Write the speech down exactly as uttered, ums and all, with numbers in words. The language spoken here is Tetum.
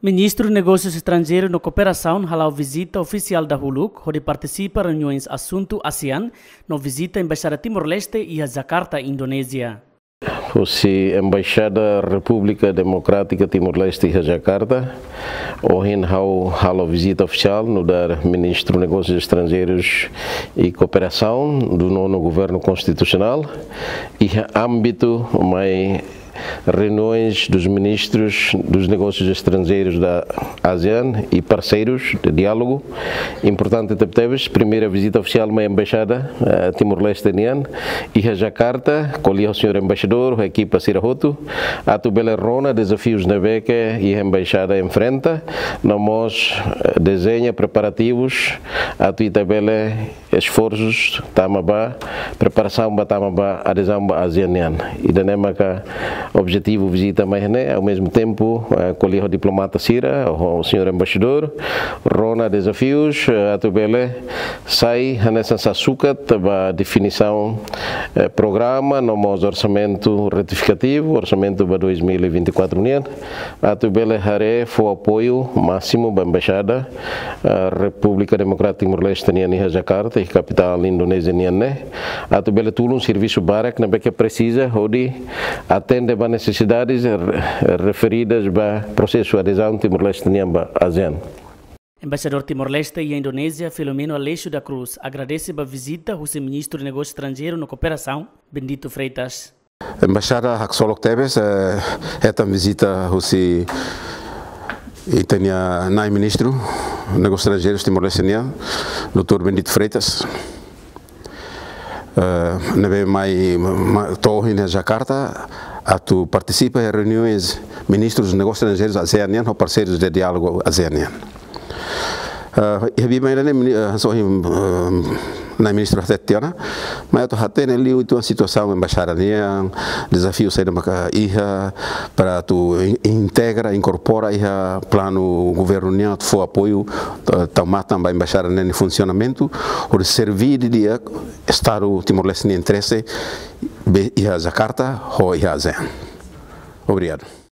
Ministru Negósius Estranjeirus no Kooperasaun hala'o vizita ofisiál dahuluk hodi partisipa reuniaun asuntu ASEAN no vizita Embaixada Timor-Leste iha Jakarta, Indonézia. Husi Embaixada Repúblika Demokrátika Timor-Leste iha Jakarta, ohin ha'u halo vizita ofisiál nu'udar Ministru Negósius Estranjeirus e Kooperasaun do nono Governo Konstitusionál, iha ámbitu mai reuniões dos ministros dos negócios estrangeiros da ASEAN e parceiros de diálogo. Importante tebetebes, primeira vizita ofisiál mai embaixada, eh, Timor-Leste nian, iha Jakarta, ko'alia ho señór embaixadór, ho ekipa sira hotu, atu bele rona dezafius ne'ebé ke iha embaixada enfrenta, no mós, eh, dezeña preparativus atu ita bele esforsus tama ba preparasaun ba tama ba adezaun ba ASEAN nian. Ida-ne'e maka objetivu vizita mai ne'e, ao mesmo tempo, eh, ko'alia ho diplomata sira, ho señór embaixadór, rona dezafius, eh, atu bele sai hanesan sasukat ba definisaun, eh, programa no mós orsamentu retifikativu, orsamentu ba dois mil e vinte e quatro nian, atu bele haree fó apoiu másimu ba embaixada, eh, Repúblika Demokrátika Timor-Leste nian iha Jakarta, iha kapitál Indonézia nian ne'e, atu bele tulun servisu barak ne'ebé ke presiza hodi atende ba nesesidades re-, referidas ba prosesu adezaun Timor-Leste nian ba ASEAN. Embaixadór Timor-Leste iha Indonézia, Filomeno Aleixo da Cruz, agradese ba vizita husi Ministru Negósius Estranjeirus no Kooperasaun, Bendito Freitas. Embaixada haksolok tebes, eh, hetan vizita husi ita-nia nai ministru negósius estranjeirus Timor-Leste nian, doutór Bendito Freitas. Eh, ne'ebé mai, ma-, to'o ohin iha Jakarta, atu partisipa iha reuniões ministrus negósius estranjeirus ASEAN nian ho parseirus de diálogu ASEAN nian. Eh, iha biban ida-ne'e mini-, eh, hanesan ohin, eh, nai ministru hatete tiha ona, mai atu hatene liu uitoan situasaun embaixada nian, dezafiu saida maka iha, para atu in-, integra, inkorpora iha planu governu nian atu fó apoiu, eh, tau matan ba embaixada nian nia funsionamentu, hodi serve didi'ak Estadu Timor-Leste nia interese, be iha Jakarta, ho iha ASEAN. Obrigadu.